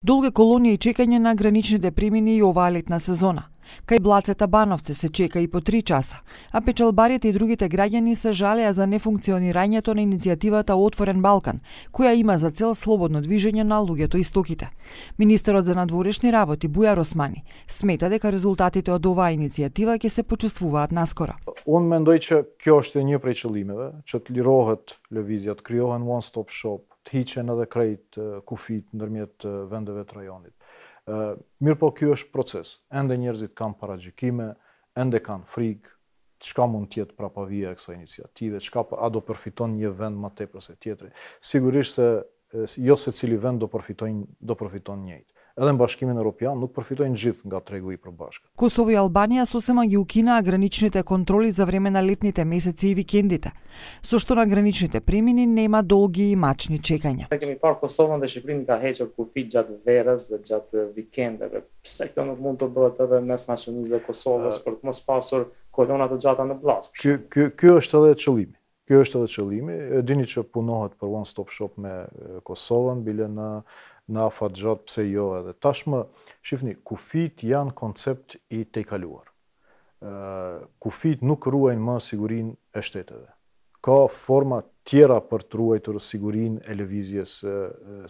Долга колонија и чекање на граничните премини и оваа летна сезона. Кај Блацета Бановци се чека и по 3 часа, а печалбарите и другите граѓани се жалеа за нефункционирањето на иницијативата Отворен Балкан, која има за цел слободно движење на луѓето и стоките. Министерот за надворешни работи Бујар Османи смета дека резултатите од оваа иницијатива ќе се почувствуваат наскоро. Он мендој че kjo është një prej qëllimeve, që të lirohet lëvizja, të krijohen one-stop shop, të hiqen edhe krejt kufit ndërmjet vendeve të rajonit. Mirë po kjo është proces. Ende njerëzit kanë paragjykime, ende kanë frikë, çka mund të jetë prapavija e kësaj iniciative, a do përfiton një vend më tepër se tjetri. Sigurisht se jo secili vend do përfiton njëjtë. Edhe në Bashkimin Evropian nuk përfitojnë gjithë nga tregu i përbashkët. Kosovo и Албанија сосема ги укинаа граничните контроли за време на летните месеци и викендите, со што на граничните премини нема долги и мачни чекања. Kemi parë Kosovën dhe Shqipërinë ka hequr kufit gjatë verës dhe gjatë vikendeve. Pse kjo nuk mund të bëhet edhe mes maqënisë e Kosovës për të mos pasur kolona të gjata në Bllaz? Ky është edhe qëllimi. Ky është edhe qëllimi. E dini që punohet për one stop shop me Kosovën, bile në afat gjatë, pse jo edhe. Tashmë, shifni, kufit janë koncept i tejkaluar. Kufit nuk ruajnë më sigurinë e shteteve. Ka forma tjera për të ruajtur sigurinë e lëvizjes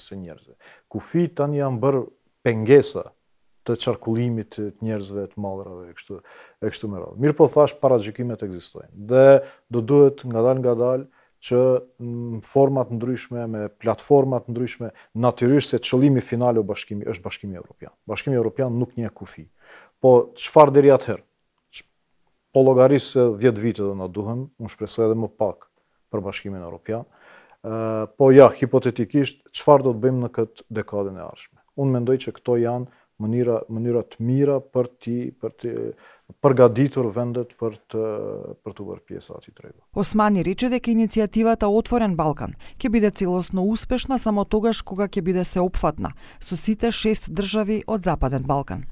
së njerëzve. Kufit tani janë bërë pengesa të qarkullimit të njerëzve të mallrave e kështu me radhë. Mirë po thash, paragjykimet ekzistojnë. Dhe do duhet ngadalë që në format ndryshme, me platformat ndryshme, natyrisht se qëllimi final është Bashkimi Evropian. Bashkimi Evropian nuk njeh kufi. Po çfarë deri atëherë? Po llogarisë se 10 vite do na duhen, unë shpresoj edhe më pak për Bashkimin Evropian. Po ja, hipotetikisht, çfarë do të bëjmë në këtë dekadën e ardhshme? Unë mendoj që këto janë mënyra të mira për të përgatitur vendet për të bërë pjesë atij tregu. Османи рече дека иницијативата Отворен Балкан ќе биде целосно успешна само тогаш кога ќе биде сеопфатна со сите 6 држави од Западен Балкан.